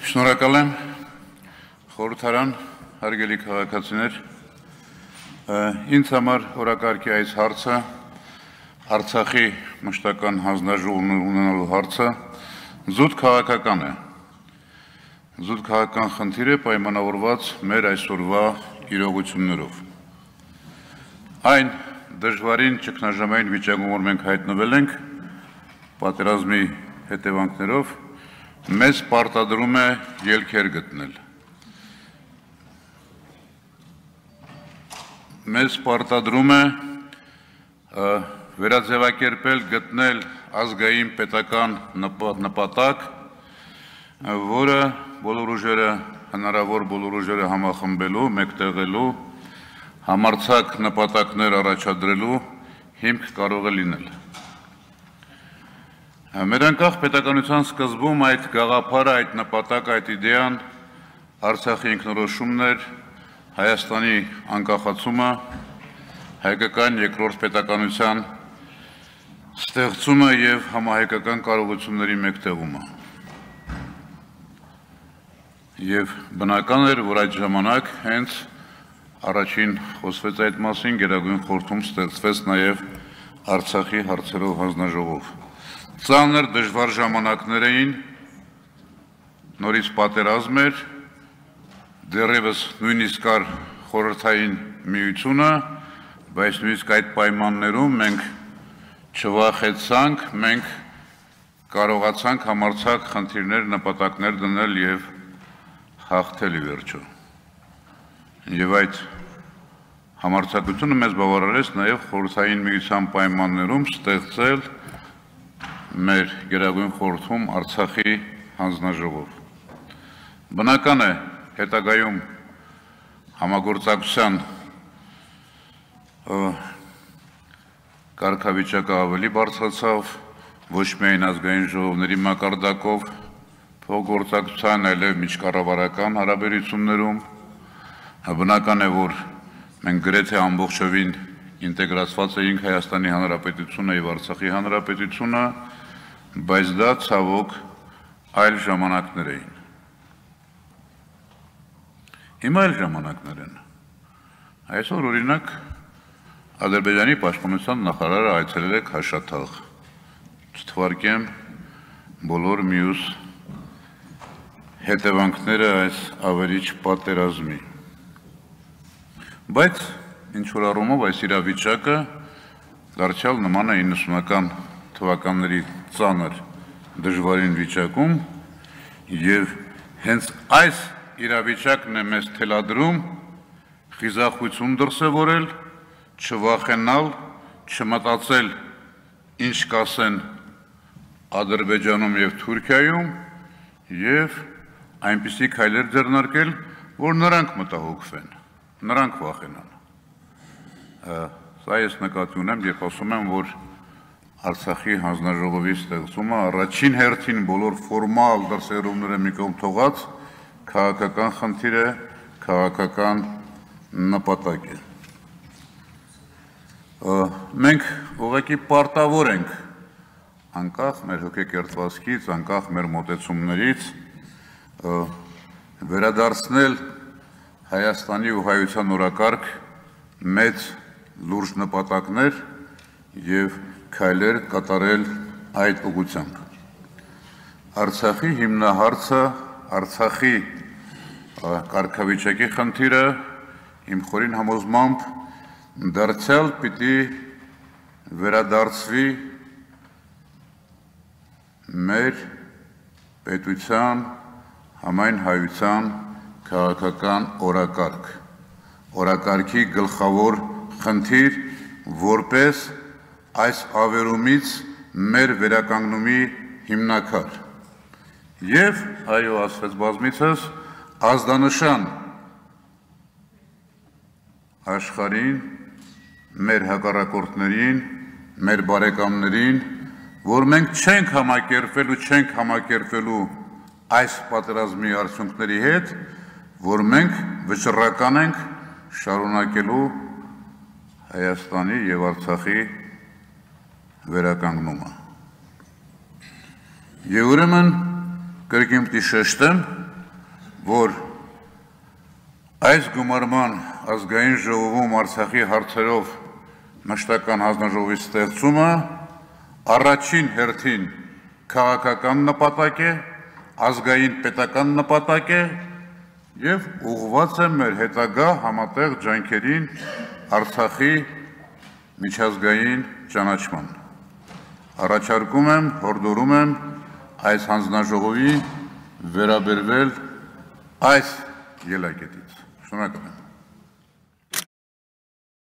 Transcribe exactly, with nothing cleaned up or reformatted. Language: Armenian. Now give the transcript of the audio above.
Շնորհակալ եմ, խորհրդարան, հարգելի քաղաքացիներ, ինձ համար օրակարգի այս հարցը, Արցախի մշտական հանձնաժողովն ունենալու հարցը, զուտ քաղաքական է, զուտ քաղաքական խնդիր է պայմանավորված մեր այսօրվա իրողություններով։ Այն դժվարին ճգնաժամային վիճակում, որ մենք հայտնվել ենք, պատերազմի հետևանքներով, մեզ պարտադրում է ելքեր գտնել։ Մեզ պարտադրում է վերաձևակերպել, գտնել ազգային պետական նպատակ, որը բոլոր ուժերը, հնարավոր բոլոր ուժերը համախմբելու, մեկտեղելու, համարձակ նպատակներ առաջադրելու հիմք կարող է լինել։ Մեր անկախ պետականության սկզբում այդ գաղափարը, այդ նպատակը, այդ իդեան Արցախի ինքնորոշումն էր, Հայաստանի անկախացումը, հայկական երկրորդ պետականության ստեղծումը և համահայկական կարողությունների մեկտեղումը։ Եվ բնական էր, որ այդ ժամանակ հենց առաջին խոսվեց այդ մասին, Գերագույն խորհրդում ստեղծվեց նաև Արցախի հարցերով հանձնաժողով։ Ծանր դժվար ժամանակներ էին, նորից պատերազմ էր, դեռևս նույնիսկ կար խորհրդային միությունը, բայց նույնիսկ այդ պայմաններում մենք չվախեցանք, մենք կարողացանք համարձակ խնդիրներ, նպատակներ դնել և հաղթել ի վերջո։ Եվ այդ համարձակությունը մեզ բավարարեց նաև խորհրդային միության պայմաններում ստեղծել մեր Գերագույն խորհրդում Արցախի հանձնաժողով։ Բնական է, հետագայում համագործակցության կարգավիճակը ավելի բարձրացավ, ոչ միայն ազգային ժողովների մակարդակով, փոխգործակցության, այլև միջկառավարական հարաբերություններում։ Բնական է, որ մենք գրեթե ամբողջովին ինտեգրացված էինք Հայաստանի Հանրապետությունը և Արցախի Հանրապետությունը, բայց դա ցավոք այլ ժամանակներ էին։ Հիմա այլ ժամանակներ են։ Այսօր օրինակ Ադրբեջանի պաշտպանության նախարարը այցելել է Քաշաթաղ, չթվարկեմ բոլոր մյուս հետևանքները այս ավերիչ պատերազմի։ Բայց ինչ-որ առումով այս իրավիճակը դարձյալ նման է իննսունական թվականների ծանր դժվարին վիճակում և հենց այս իրավիճակն է մեզ թելադրում խիզախություն դրսևորել, չվախենալ, չմտածել ինչ կասեն Ադրբեջանում և Թուրքիայում և այնպիսի քայլեր ձեռնարկել, որ նրանք մտահոգվեն, նրանք վախենան։ Սա ես նկատի ունեմ, երբ ասում եմ, որ Արցախի հանձնաժողովի ստեղծումը առաջին հերթին բոլոր ֆորմալ դրսևորումները մի կողմ թողած քաղաքական խնդիր է, քաղաքական նպատակ է։ Մենք ուղղակի պարտավոր ենք անկախ մեր հոգեկերտվածքից, անկախ մեր մոտեցումներից վերադարձնել Հայաստանի ու հայության օրակարգ մեծ լուրջ նպատակներ և քայլեր կատարել այդ ուղղությամբ։ Արցախի հիմնահարցը, Արցախի կարգավիճակի խնդիրը իմ խորին համոզմամբ դարձյալ պիտի վերադարձվի մեր պետության, համայն հայության քաղաքական օրակարգ, օրակարգի գլխավոր խնդիր, որպես այս ավերումից մեր վերականգնումի հիմնաքար։ Եվ, այո, ասվեց բազմիցս, ազդանշան աշխարհին, մեր հակառակորդներին, մեր բարեկամներին, որ մենք չենք համակերպվել ու չենք համակերպվելու այս պատերազմի արդյունքների հետ, որ մենք վճռական ենք շարունակելու Հայաստանի և Արցախի վերականգնումը։ Եվ ուրեմն կրկին պիտի շեշտեմ, որ այս գումարման ազգային ժողովում Արցախի հարցերով մշտական հանձնաժողովի ստեղծումը առաջին հերթին քաղաքական նպատակ է, ազգային պետական նպատակ է եւ ուղղված է մեր հետագա համատեղ ջանքերին Արցախի միջազգային ճանաչման։ Առաջարկում եմ, հորդորում եմ այս հանձնաժողովի վերաբերվել այս ելակետից։ Շնորհակալ եմ։